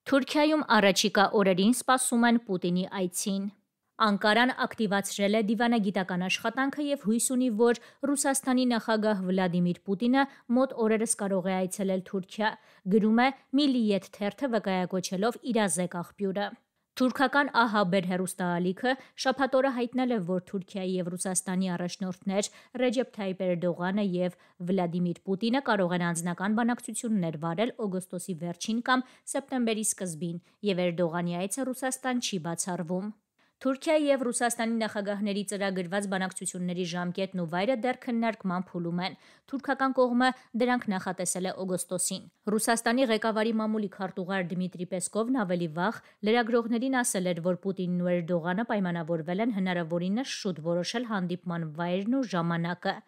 Թուրքիայում առաջիկա օրերին սպասում են Պուտինի այցին։ Անկարան ակտիվացրել է դիվանագիտական աշխատանքը և հույս ունի, որ Ռուսաստանի նախագահ Վլադիմիր Պուտինը մոտ օրերս կարող է այցելել Թուրքիա, գրում է Միլիետ թերթը վկայակոչելով իրազեկ աղբյուրը։ Թուրքական ԱՀԲ հեռուստաալիքը շաբաթ օրը հայտնել է, որ Թուրքիայի և Ռուսաստանի առաջնորդներ Ռեջեփ Թայիպ Էրդողանը և Վլադիմիր Պուտինը կարող են անձնական բանակցություններ վարել օգոստոսի վերջին կամ սեպտեմբերի սկզբին, և Էրդողանի այցը Ռուսաստան չի բացառվում։ Թուրքիայի և Ռուսաստանի նախագահների ծրագրված բանակցությունների ժամկետն ու վայրը դեռ քննարկման փուլում են։ Թուրքական կողմը դրանք նախատեսել է օգոստոսին։ Ռուսաստանի ղեկավարի մամուլի քարտուղար Դմիտրի Պեսկովն ավելի վաղ լրագրողներին ասել էր, որ Պուտինն ու Էրդողանը պայմանավորվել են հնարավորինս շուտ որոշել հանդիպման վայրն ու ժամանակը։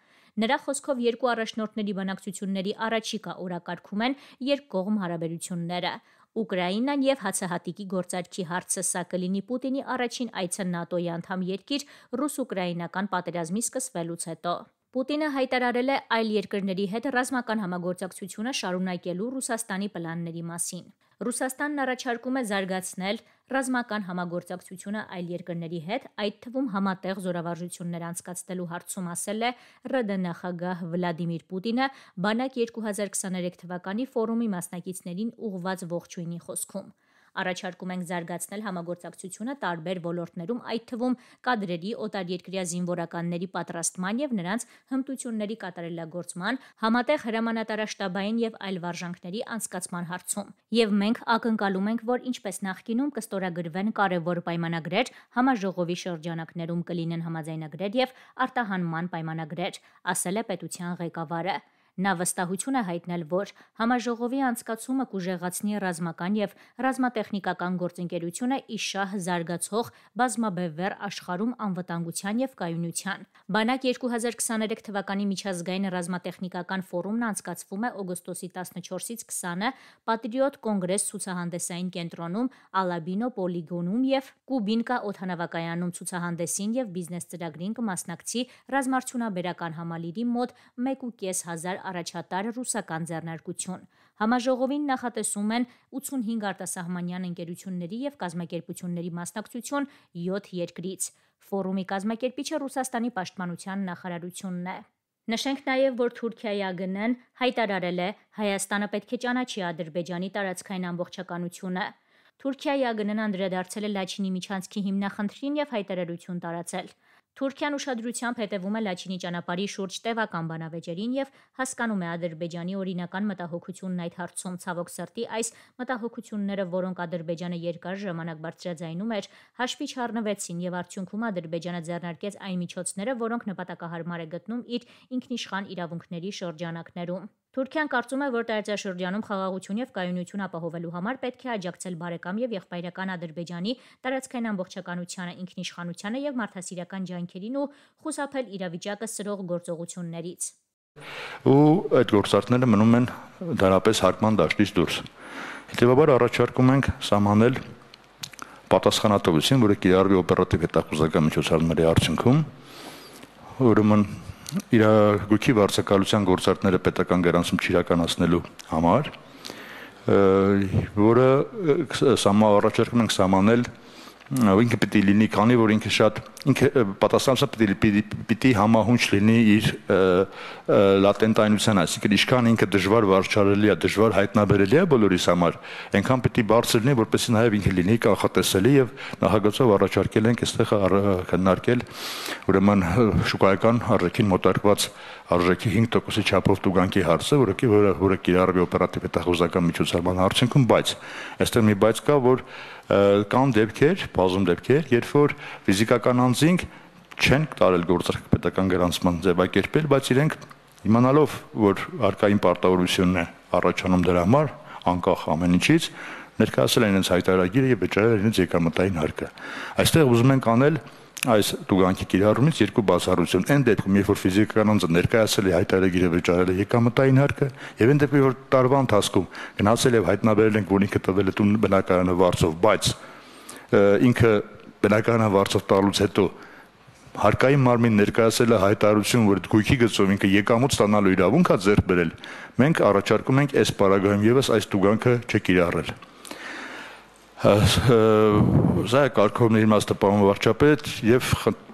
Նրա խոսքով երկու առաջնորդների բանակցությունների առաջիկա օրակարգում են երկկողմ հարաբերությունները։ Ուկրաինան և հացահատիկի գործարքի հարցը սա կլինի Պուտինի առաջին այցը ՆԱՏՕ-ի անդամ երկիր ռուս-ուկրաինական պատերազմի սկսվելուց հետո։ Պուտինը հայտարարել է այլ երկրների հետ ռազմական համագործակցությունը շարունակելու Ռուսաստանի պլանների մասին։ Ռուսաստանն առաջարկում է զարգացնել ռազմական համագործակցությունը այլ երկրների հետ, այդ թվում համատեղ զորավարժություններ անցկացնելու հարցում, ասել է ՌԴ նախագահ Վլադիմիր Պուտինը Բանակ 2023 թվականի ֆորումի մասնակիցներին ուղղված ողջույնի խոսքում։ Առաջարկում ենք զարգացնել համագործակցությունը տարբեր ոլորտներում, այդ թվում կադրերի, օտարերկրյա զինվորականների պատրաստման և նրանց հմտությունների կատարելագործման, համատեղ հրամանատարաշտաբային և այլ վարժանքների անցկացման հարցում։ Եվ մենք ակնկալում ենք, որ ինչպես նախկինում կստորագրվեն կարևոր պայմանագրեր, համաժողովի շրջանակներում կլինեն համաձայնագրեր և արտահանման պայմանագրեր, ասել է պետության ղեկավարը։ Նա վստահություն է հայտնել, որ համաժողովի անցկացումը կուժեղացնի ռազմական և ռազմատեխնիկական գործընկերությունը ի շահ զարգացող բազմաբևեռ աշխարհում անվտանգության և կայունության։ Բանակ 2023 թվականի միջազգային ռազմատեխնիկական ֆորումն անցկացվում է օգոստոսի 14-ից 20-ը Պատրիոտ կոնգրես ցուցահանդեսային կենտրոնում, Ալաբինո պոլիգոնում և Կուբինկա օդանավակայանում ցուցահանդեսին և բիզնես ծրագրին կմասնակցի ռազմարդյունաբերական համալիրի մոտ 1,500 առաջատար ռուսական ձեռնարկություն։ Համաժողովին նախատեսում են 85 արտասահմանյան ընկերությունների և կազմակերպությունների մասնակցություն 7 երկրից։ Ֆորումի կազմակերպիչը Ռուսաստանի պաշտպանության նախարարությունն է։ Նշենք նաև, որ Թուրքիայի ԱԳՆ-ն հայտարարել է Հայաստանը պետք է ճանաչի Ադրբեջանի տարածքային ամբողջականությունը։ Թուրքիայի ԱԳՆ-ն անդրադարձել է Լաչինի միջանցքի հիմնախնդրին և հայտարարություն տարածել։ Թուրքիան ուշադրությամբ հետևում է Լաչինի ճանապարհի շուրջ տևական բանավեճերին և հասկանում է Ադրբեջանի օրինական մտահոգությունն այդ հարցում։ Ցավոք սրտի, այս մտահոգությունները, որոնք Ադրբեջանը երկար ժամանակ բարձրաձայնում էր, հաշվի չառնվեցին և արդյունքում Ադրբեջանը ձեռնարկեց այն միջոցները, որոնք նպատակահարմար է գտնում իր ինքնիշխան իրավունքների շրջանակներում։ Թուրքիան կարծում է, որ տարածաշրջանում խաղաղություն և կայունություն ապահովելու համար պետք է աջակցել բարեկամ և եղբայրական Ադրբեջանի տարածքային ամբողջականությանը, ինքնիշխանությանը և մարդասիրական ջանքերին ու խուսափել իրավիճակը սրող գործողություններից։ Ու այդ գործարքները մնում են դարապես հարկման դաշտից դուրս։ Հետևաբար առաջարկում ենք սահմանել պատասխանատվություն, որը կիրառվի օպերատիվ հետախուզական միջոցառումների արդյունքում, ուրեմն իրավունքի վարձակալության գործարքները պետական գրանցում չիրականացնելու համար, որը առաջարկում ենք սահմանել ինքը պիտի լինի, քանի որ ինքը պատասխանատվությունը պիտի համահունչ լինի իր լատենտայնության, այսինքն ինչքան ինքը դժվար վարչարելի է, դժվար հայտնաբերելի է բոլորիս համար, այնքան պիտի բարձր լինի, որպեսզի նաև ինքը լինի կանխատեսելի, եւ նախագծով առաջարկել ենք այստեղ քննարկել ուրեմն շուկայական արժեքին մոտարկված արժեքի 5%-ի չափով տուգանքի հարցը, որը կիրառվի օպերատիվ հետախուզական միջոցառման արդյունքում, բայց այստեղ մի բայց կա, որ կան դեպքեր, բազում դեպքեր, երբ որ ֆիզիկական անձինք չեն տարել գործարք պետական գրանցման ձևակերպել, բայց իրենք իմանալով, որ արկային պարտավորությունն է առաջանում դրա համար, անկախ ամեն ինչից, ներկայացել են իրենց հայտարարագիրը եւ վճարել իրենց եկամտային հարկը։ Այստեղ ուզում ենք անել այս տուգանքի կիրառումից երկու բացառություն։ Այն դեպքում, երբ որ ֆիզիկական անձը ներկայացել է հայտարարագիրը վճարել է եկամտային հարկը, եւ այն դեպքում, որ տարվա ընթացքում գնացել եւ հայտնաբերել ենք, որ ինքը տվել է տուն բնակարանը վարձով, բայց ինքը բնակարանը վարձով տալուց հետո հարկային մարմին ներկայացել է հայտարարություն, որ գույքի գծով ինքը եկամուտ ստանալու իրավունք է ձեռք բերել, մենք առաջարկում ենք այս պարագայում եւս այս տուգանքը չկիրառել։ Սա է կարգովների իմաստը պարոն վարչապետ եւ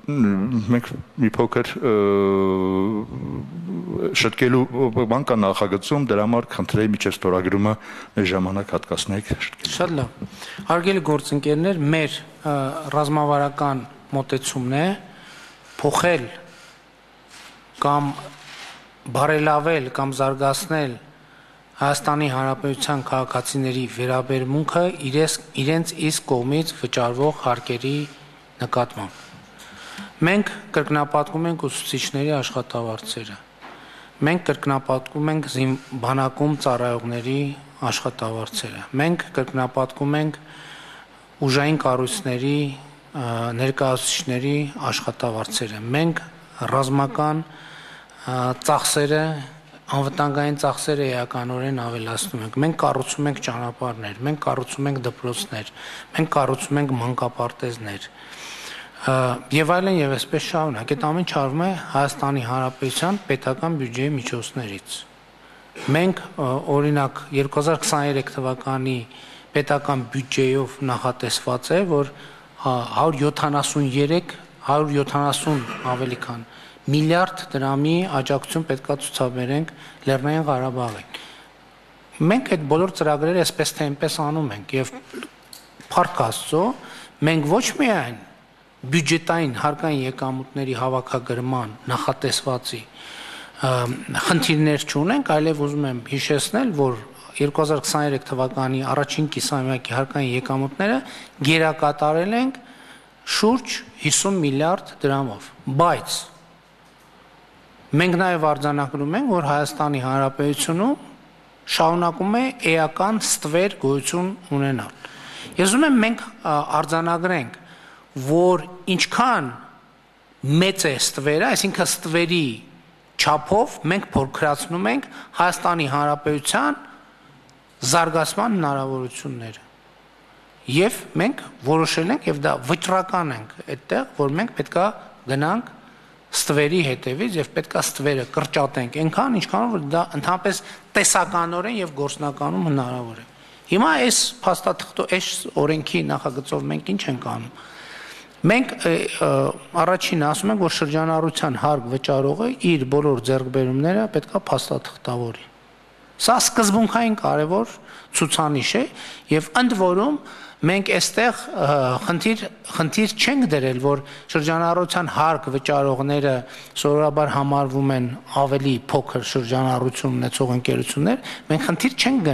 մենք մի փոքր շտկելու բան կա նախագծում, դրա համար խնդրեի միջև ստորագրումը մեր ժամանակ հատկացնեք։ Շատ լավ։ Հարգելի գործընկերներ, մեր ռազմավարական մոտեցումն է փոխել կամ բարելավել կամ զարգացնել Հայաստանի Հանրապետության քաղաքացիների վերաբերմունքը իրենց իսկ կողմից վճարվող հարկերի նկատմամբ։ Մենք կրկնապատկում ենք ուսուցիչների աշխատավարձերը, մենք կրկնապատկում ենք բանակում ծառայողների աշխատավարձերը, մենք կրկնապատկում ենք ուժային կառույցների ներկայացուցիչների աշխատավարձերը, մենք ռազմական ծախսերը, անվտանգային ծախսերը էականորեն ավելացնում ենք, մենք կառուցում ենք ճանապարհներ, մենք կառուցում ենք դպրոցներ, մենք կառուցում ենք մանկապարտեզներ եւ այլն եւ այսպես շարունակ։ Այդ ամեն ինչը արվում է Հայաստանի Հանրապետության պետական բյուջեի միջոցներից։ Մենք օրինակ 2023 թվականի պետական բյուջեով նախատեսված է, որ 170 ավելի քան միլիարդ դրամի աջակցություն պետքա ցուցաբերենք Լեռնային Ղարաբաղին։ Մենք այդ բոլոր ծրագրերը այսպես թե այնպես անում ենք եւ փառք Աստծո, մենք ոչ միայն բյուջետային հարկային եկամուտների հավաքագրման նախատեսվածի խնդիրներ չունենք, այլև ուզում եմ հիշեցնել, որ 2023 թվականի առաջին կիսամյակի հարկային եկամուտները գերակատարել ենք շուրջ 50 միլիարդ դրամով, բայց մենք նաև արձանագրում ենք, որ Հայաստանի Հանրապետությունում շարունակում է էական ստվեր գոյություն ունենալ։ Ես ուզում եմ մենք արձանագրենք, որ ինչքան մեծ է ստվերը, այսինքն ստվերի չափով մենք փոքրացնում ենք Հայաստանի Հանրապետության զարգացման հնարավորությունները։ Եվ մենք որոշել ենք եւ դա վճռական ենք այդտեղ, որ մենք պետքա գնանք ստվերի հետևից եւ պետքա ստվերը կրճատենք այնքան, ինչքան որ դա ընդհանրապես տեսականորեն եւ գործնականում հնարավոր է։ Հիմա այս այս օրենքի նախագծով մենք ինչ ենք անում։ Մենք առաջին ասում ենք, որ շրջանառության հարկ վճարողը իր բոլոր ձեռքբերումները պետքա փաստաթղթավորի։ Սա սկզբունքային կարևոր ցուցանիշ է եւ ընդ որում մենք այստեղ խնդիր չենք դրել, որ շրջանառության հարկ վճարողները սովորաբար համարվում են ավելի փոքր շրջանառություն ունեցող ընկերություններ, մենք խնդիր չենք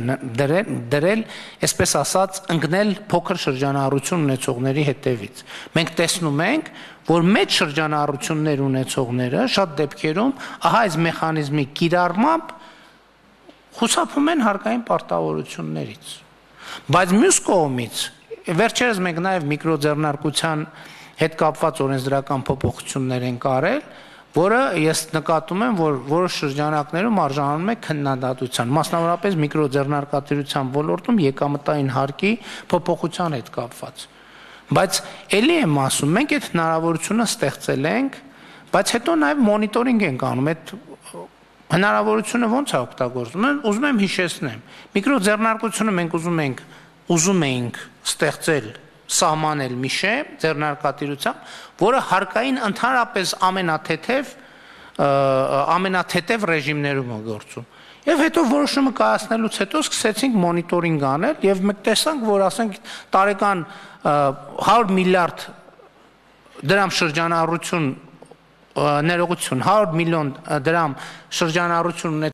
դրել, այսպես ասած, ընկնել փոքր շրջանառություն ունեցողների հետևից։ Մենք տեսնում ենք, որ մեծ շրջանառություններ ունեցողները շատ դեպքերում ահա այս մեխանիզմի կիրառմամբ խուսափում են հարկային պարտավորություններից։ Բայց մյուս կողմից վերջերս մենք նաև միկրոձեռնարկության հետ կապված օրենսդրական փոփոխություններ են կարել, որը ես նկատում եմ, որ որոշ շրջանակներում արժանանում է քննադատության, մասնավորապես միկրոձեռնարկատիրության ոլորտում եկամտային հարկի փոփոխության հետ կապված։ Բայց ելի եմ ասում, մենք այդ հնարավորությունը ստեղծել ենք, բայց հետո նաև մոնիտորինգ ենք անում, այդ հնարավորությունը ոնց է օգտագործվում։ Ուզում եմ հիշեցնեմ, միկրոձեռնարկությունը մենք ուզում էինք ստեղծել, սահմանել մի շեմ ձեռնարկատիրությամբ, որը հարկային ընդհանրապես ամենաթեթև ռեժիմներում է գործում։ Եվ հետո որոշումը կայացնելուց հետո սկսեցինք մոնիտորինգ անել եւ մենք տեսանք, որ ասենք տարեկան 100 միլիարդ դրամ շրջանառություն ներողություն 100 միլիոն դրամ շրջանառություն